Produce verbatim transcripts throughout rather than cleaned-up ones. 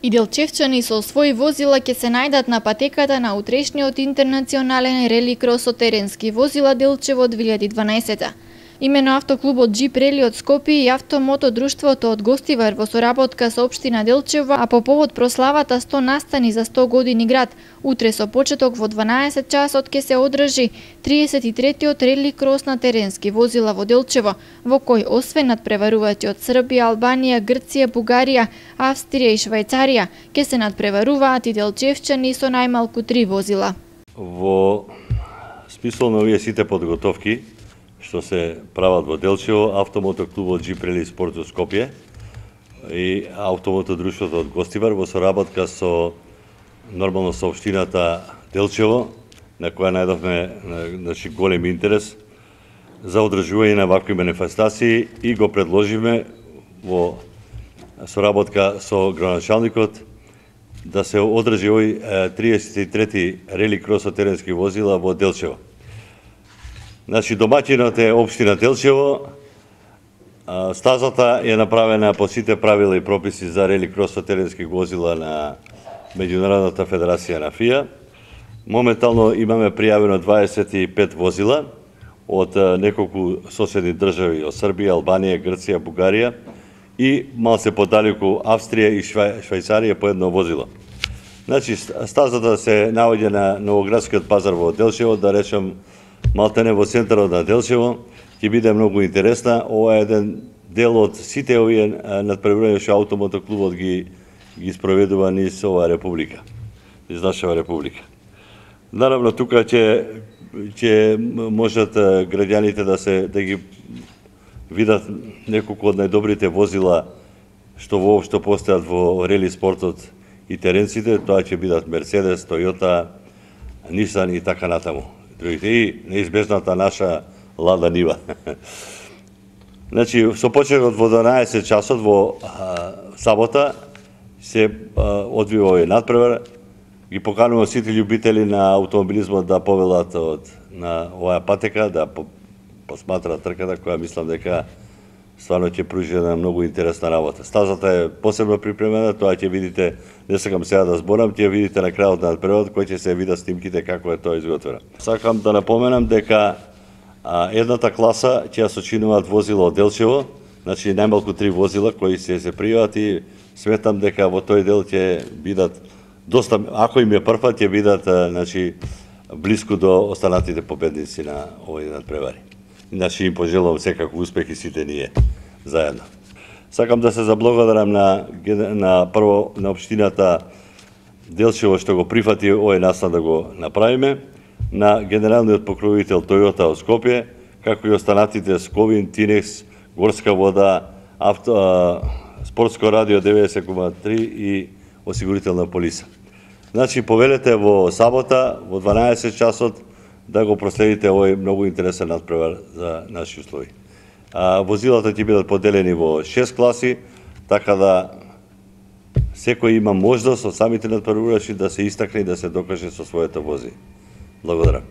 И делчевчани со своји возила ќе се најдат на патеката на утрешниот интернационален рели кросо теренски возила Делчево две илјади и дванаесетта. Имено автоклубот Джип Рели од Скопје и автомото друштвото од Гостивар во соработка со општина Делчево, а по повод прославата сто настани за сто години град, утре со почеток во дванаесет часот ќе се одржи триесет и третиот рели крос на теренски возила во Делчево, во кој освен надпреварувачи од Србија, Албанија, Грција, Бугарија, Австрија и Швајцарија, ќе се надпреваруваат и делчевчани со најмалку три возила. Во смисол на овие сите подготовки што се прават во Делчево, автомото клубот Джип Рели Спорт од Скопје и автомото друштвото од Гостивар во соработка со нормално со општината Делчево, на која најдовме значи голем интерес за одржување на вакви манифестации и го предложиме во соработка со градоначалникот да се одржи овој триесет и трети рели кросо теренски возила во Делчево. Значи, домаќинот е општина Делчево, стазата е направена по сите правила и прописи за рели кросо теренски возила на Меѓународната федерација на ФИА. Моментално имаме пријавено дваесет и пет возила од неколку соседни држави, од Србија, Албанија, Грција, Бугарија и малце подалеку Австрија и Швајцарија по едно возило. Значи, стазата се наоѓа на Новоградскиот пазар во Делчево, да речем, малтене во центарот на Делчево, ќе биде многу интересна. Ова е еден дел од сите овие надпреварувања што автомото клубот ги ги спроведува низ оваа република, низ нашава република. Наравно, тука ќе ќе можат граѓаните да се да ги видат неколку од најдобрите возила што воопшто постојат во рели спортот и теренците. Тоа ќе бидат Мерцедес, Тојота, Нисан и така натаму. Другите и неизбежната наша Лада Нива. Значи, со почеток во дванаесет часот во а, сабота се а, одвива овој надпревар. Ги поканувам сите љубители на автомобилизмот да повелат од на оваа патека, да по, посматраат трката, која мислам дека стварно ќе пружи една многу интересна работа. Стазата е посебно припремена, тоа ќе видите, не сакам сега да зборам, ќе видите на крајот на надпреварот кој ќе се видат снимките како е тоа изготвено. Сакам да напоменам дека а, едната класа ќе ја сочинуваат возила од Делчево, значи најмалку три возила кои се се пријават и сметам дека во тој дел ќе бидат доста, ако им е првпат, ќе бидат значи блиску до останатите победници на овој надпревари. Значи им пожелувам секако успех и сите ние заедно. Сакам да се заблагодарам на на прво на општината Делчево што го прифати овој настан да го направиме, на генералниот покровител Тојота од Скопје, како и останатите Сковин, Тинекс, Горска вода, авто, а, Спортско радио деветдесет и три и осигурителна полиса. Значи повелете во сабота во дванаесет часот да го проследите овој многу интересен надпревар за наши услови. А, возилата ќе бидат поделени во шест класи, така да секој има можност од самите надпреварувачи да се истакне и да се докаже со своето вози. Благодарам.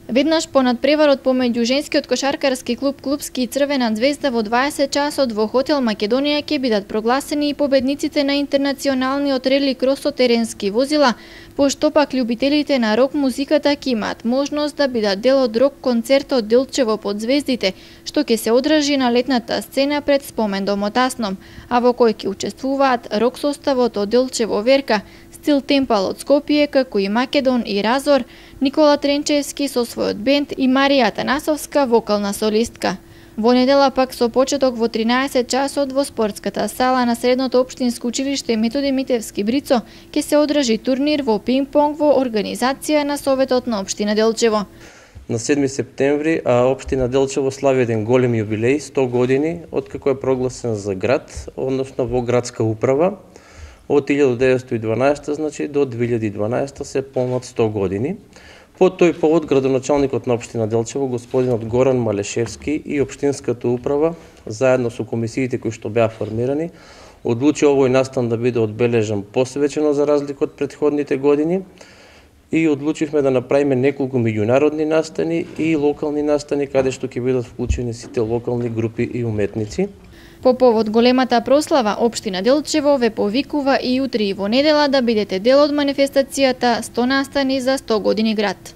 Веднаш по надпреварот помеѓу женскиот кошаркарски клуб Клубски и Црвена звезда во дваесет часот во хотел Македонија ќе бидат прогласени и победниците на интернационалниот рели кросо теренски возила, пошто пак љубителите на рок музиката ќе имаат можност да бидат дел од рок концертот Делчево под звездите, што ќе се одржи на летната сцена пред спомендомот Асном, а во кој ќе учествуваат рок составот од Делчево Верка, Стил Темпал од Скопје, како и Македон и Разор, Никола Тренчевски со својот бенд и Марија Танасовска, вокална солистка. Во недела пак со почеток во тринаесет часот во спортската сала на Средното општинско училиште Методи Митевски Брицо ќе се одржи турнир во пинг-понг во организација на Советот на општина Делчево. На седми септември а, општина Делчево слави еден голем јубилеј, сто години откако е прогласен за град, односно во градска управа. Од илјада деветстотини и дванаесетта значи до две илјади и дванаесетта се полнат сто години. По тој повод градоначалникот на општина Делчево господинот Горан Малешевски и општинската управа заедно со комисиите кои што беа формирани одлучи овој настан да биде одбележан посвечено за разлика од претходните години и одлучивме да направиме неколку меѓународни настани и локални настани каде што ќе бидат вклучени сите локални групи и уметници. По повод големата прослава, општина Делчево ве повикува и утре и во недела да бидете дел од манифестацијата сто настани за сто години град.